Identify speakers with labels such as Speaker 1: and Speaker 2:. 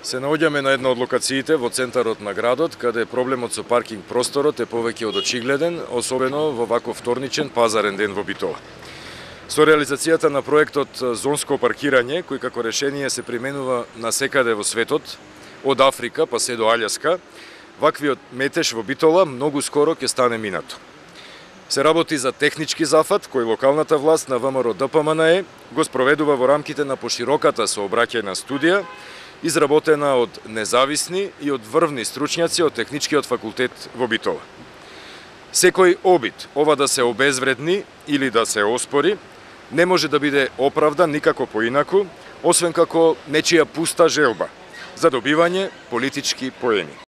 Speaker 1: Се наоѓаме на една од локациите во центарот на градот, каде проблемот со паркинг просторот е повеќе од очигледен, особено во ваков вторничен пазарен ден во Битола. Со реализацијата на проектот зонско паркирање, кој како решение се применува насекаде во светот, од Африка па се до Алјаска, ваквиот метеж во Битола многу скоро ќе стане минато. Се работи за технички зафат кој локалната власт на ВМРО ДПМНЕ го спроведува во рамките на пошироката сообраќајна студија, изработена од независни и од врвни стручњаци од Техничкиот факултет во Битола. Секој обид ова да се обезвредни или да се оспори не може да биде оправдан никако поинаку, освен како нечија пуста желба за добивање политички поени.